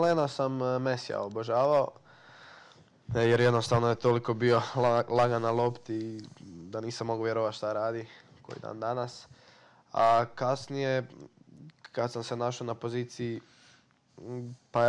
Lena sam Mesija obožavao, jer jednostavno je toliko bio lagan na lopti da nisam mogao vjerovati šta radi koji dan danas. A kasnije, kad sam se našao na poziciji, pa